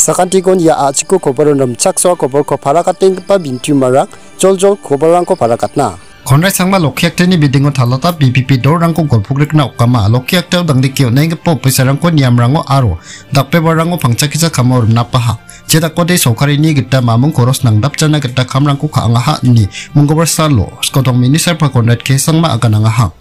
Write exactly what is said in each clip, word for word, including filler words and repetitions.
Sakantikon ia a·chiko koboron rimchaksoa koborko parakatenggipa bintiumarang joljol koborrangko parakatna. Konrai Sangma Lokiakteni bidingo talata B P P dolrangko golpogrikna okama, Lokiaktao dangdike on·enggipa opiserrangko niamrango aro dakbebarango pangchakisa kamo rimnapaha. Jedakode sorkarini gita mamung koros nangdapjana gita kamrangko ka·angaha ine monggobar salo skotong minister pa Konrad K Sangma aganangaha.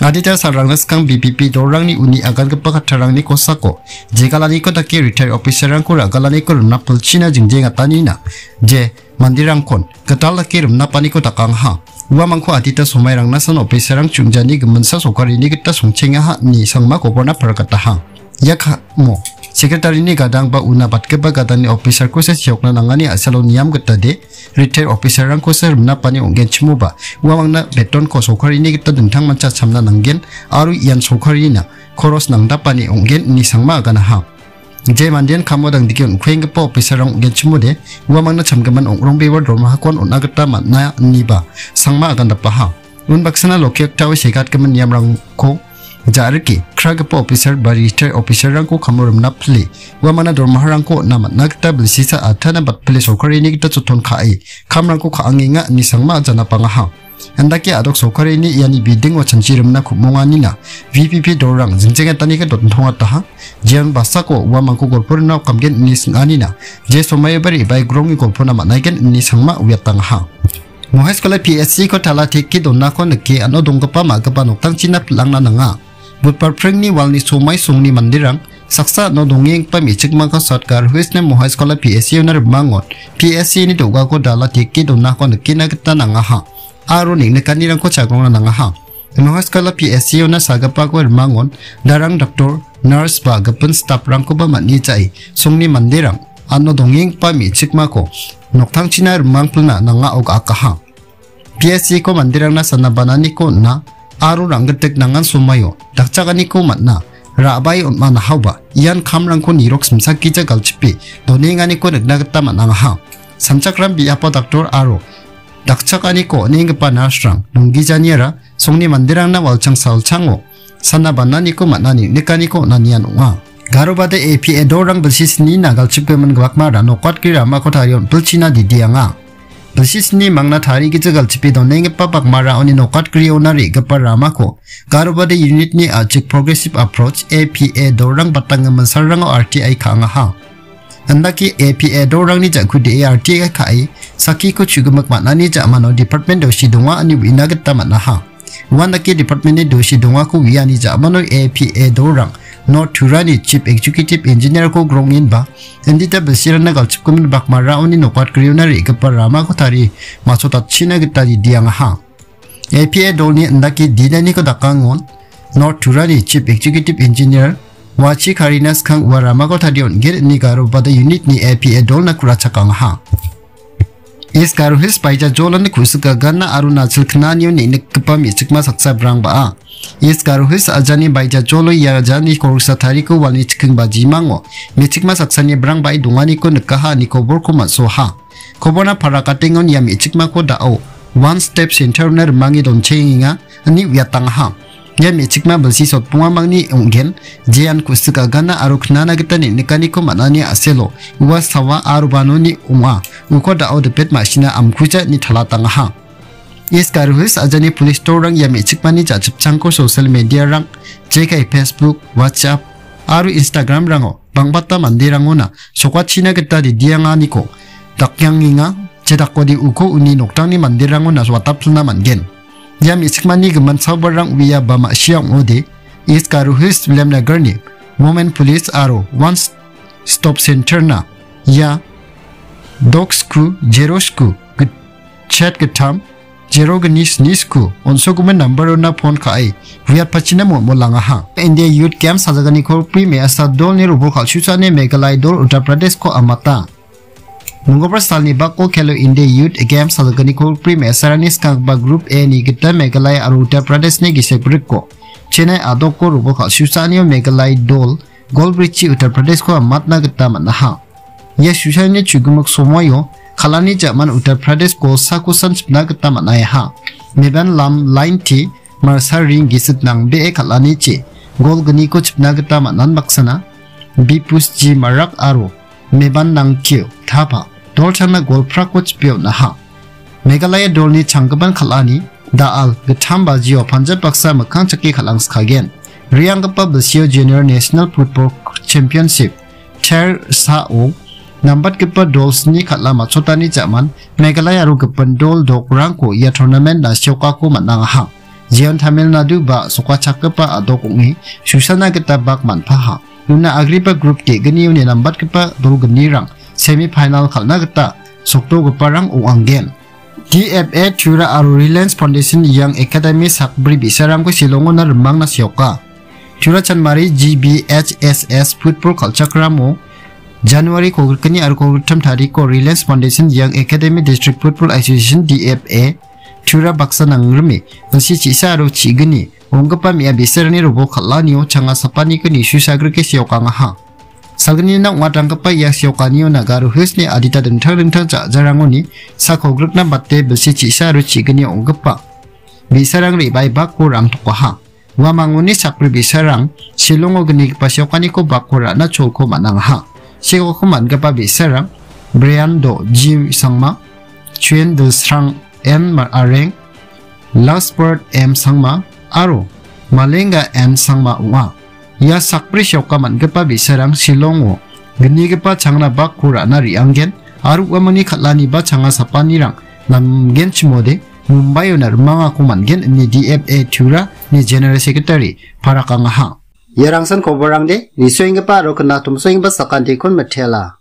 Adita salrangna skang B P P dolrangni uni agangipa kattarangni kosako jegalaniko dake retired officer-rangko ra·galaniko rimna pilchina jingjengatanina je manderangkon gital dake rimnapaniko dakangaha. Uamangko adita somairangna san officer-rang chungjani giminsa sorkarini gita songchengaha ine Sangma koborna parakataha. Ia kamo, secretary-ni gadang ba una batgipa gadangni officer-kosa seokna nangani a·salo niam gitade, retired officer-rangkosa rimnapani ong·genchimoba, uamangna betonko sorkarini gita dingtangmancha chamna nanggen, aro ian sorkarina koros nangdapani ong·gen ine Sangma aganaha. Je mandean kamo dangdike on·kuenggipa officer-rang ong·genchimode, uamangna chamgimin ong·rongbewa dormahakon on·a gita man·a iniba Sangma agandapaha. Unbaksana Lokiaktao segatgimin niamrangko ja·rike kragipa officer ba retired officer-rangko kamo rimna pile, uamangna dormaharangko on·na man·a gita bilsisa atana batpile sorkarini gita joton ka·e kamrangko ka·angenga ine Sangma janapangaha. Andake a·dok sorkarini iani bidingo chanchi rimna ku·monganina V P P dolrang jingjengataniko dotongataha, jeon basako uamangko golpo rimna okamgen ine sing·anina, je somaioba re·bae grongni golpona man·aigen ine Sangma uiatangaha. Mohaiskola P S C-ko tala teke donako nike ano donggipa ma·gipa noktangchina pil·angna nanga. Budbar pringni walni somai songni manderang saksa ano dongenggipa me·chikmako South Garo Hills-ni Mohaiskola P S C-ona rimangon P S C-ni do·gako dala teke donako nikna gita nangaha. Aro neng·nikanirangko chagrongna nangaha. Mohaiskola P S C-ona sagipako rimangon darang doktor, nurse ba gipin staff-rangkoba man·e ja·e songni manderang ano dongenggipa me·chikmako noktangchina rimangpilna nangao ga·akaha. P S C-ko manderangna sana bananiko on·a aro rang·gitik nangan somaio dakchakaniko man·a ra·bae on·manahaoba ian kamrangko nirok simsakgija galchipe donenganiko nikna gita man·angaha. Sanchakram biapo daktor aro dakchakaniko on·enggipa nurse-rang donggijaniara songni manderangna walchang salchango sana bananiko man·ani nikaniko on·anian ong·a. Garobade A P A dolrang bilsi snina galchipgimin bakmara nokatgri ramako tarie on·pilchina didianga. Bilsi sni mangna tarigija galchipe donenggipa bakmara oni nokatgriona re·gipa ramako Garobade unit-ni a·chik Progressive Approach, A P A dolrang batanggimin salrango R T I ka·angaha. Andake A P A dolrangni ja·kude R T I ka·e, sakkiko chu·gimik man·ani ja·mano department dosi donga ine uina gita man·aha. Uandake department-ni dosi dongako uiani ja·mano A P A dolrang North Turani Chief Executive Engineer-ko grongenba, indita bilsirangna galchipgimin bakmaraoni nokatgriona re·gipa ramako tarie masotatchina gita didiangaha. A P A dolni indake dinaniko dakangon North Turani Chief Executive Engineer Wachi Karina skang ua ramako tarie on·gen ine Garobade unit-ni A P A dolna ku·rachakangaha. East Garo Hills Baija jolani ku·sik agana aro nachil knanio neng·nikgipa me·chikma saksa brang ba·a. East Garo Hills ajani Baija jolo ia ajani koroksa tariko walni chikking bajimango me·chikma saksani brang ba·e donganiko nikaha ine koborko man·soha. Koborna parakatengon ia me·chikmako da·o One Step Center-ona rimange donchengenga ine uiatangaha. Ia me·chikma bilsi sotbongamangni ong·gen, jean ku·sik agana aro knana gita neng·nikaniko man·ani a·selo, ua sawa aro banoni ong·a, uko da·o dipet ma·sina amkuja ine talatangaha. East Garo Hills ajani police dolrang ia me·chikmani ja·chipchangko social media-rang, jekai Facebook, WhatsApp aro Instagram-rango bang·bata manderangona sokachina gita ridianganiko dakjangenga, jedakode uko uni noktangni manderangona watapilna man·gen. Ia me·chikmani gimin sabarrang uia ba ma·sia ong·ode, East Garo Hills Williamnagar-ni Women Police aro One Stop Center-na ia dok sku, zero sku, git-, chet gittam, zero gni sni sku, on·sogimin number-ona phone ka·e, uiatpachina molmolangaha. India Youth Games sajaganiko pri me·asa dolni robol kal·susaani Meghalaya dol Uttar Pradesh-ko amata. Mongolbar salni bako Khelo India Youth Games sajaganiko pri me·asarangni skanggipa Group A-ni gita Meghalaya aro Uttar Pradesh-ni gisik brikko Chennai a·doko robol kal·susaanio Meghalaya dol gol brichi Uttar Pradesh-ko amatna gita man·aha. Ia susaani chu·gimik somoio kal·ani ja·man Uttar Pradesh golsako san chipna gita man·aiaha. Meban lam lain-ti marsa ring gisik nangbee kal·anichi gol gniko chipna gita man·an baksana Bipus G Marak aro Meban Nangkio Thapa dolchangna gol prako chipe on·aha. Meghalaya dolni changgipan kal·ani da·al gittam bajio Punjab baksa mikkang chake kal·ang skagen. Re·anggipa bilsio Junior National Football Championship ter sao nambatgipa dol sni kal·a matchotani ja·man Meghalaya aro gipin dol dokrangko ia tournament-na seokako man·angaha. Jeon Tamil Nadu ba sokachakgipa a·dok ong·e susana gita bak man·paha. Una agriba group ge·gnioni nambatgipa dol gnirang semi final kal·na gita sokdogiparang ong·angen. D F A Tura aro Reliance Foundation Young Academy sakbri bi·sarangko Shillongona rimangna seoka. Tura Chanmari G B H S S football kal·chakramo January kolgrikgni aro kolgrittam tariko Reliance Foundation Young Academy District Football Association D F A Tura baksa nangrime bilsi chi·sa aro chi·gni ong·gipa me·a bi·sarangni robol kal·anio changa sapaniko nisu sagrike seokangaha. Salgnina ong·atanggipa ia seokanio Nagaro Hillsni adita dingtang dingtang ja·jarangoni sak kolgrikna bate bilsi chi·sa aro chi·gni ong·gipa bi·sarang re·bae bakko rangtokaha. Uamangoni sakbri bi·sarang Shillongo gnigipa seokaniko bakko ra·na cholko man·angaha. Seokako man·gipa bi·sarang Brian Do Ji Sangma, Chuen Dilsrang M Areng, Lasbert M Sangma aro Malenga M Sangma ong·a. Ia sakbri seoka man·gipa bi·sarang Shillongo gnigipa changna bakko ra·na re·angen aro uamangni kal·aniba changa sapanirang namgenchimode Mumbaio narmangako man·gen ine D F A Tura ni General Secretary parakangaha. Ia rangsan koborangde nisoenggipa aro knatomsoenggipa sakantikon mitela.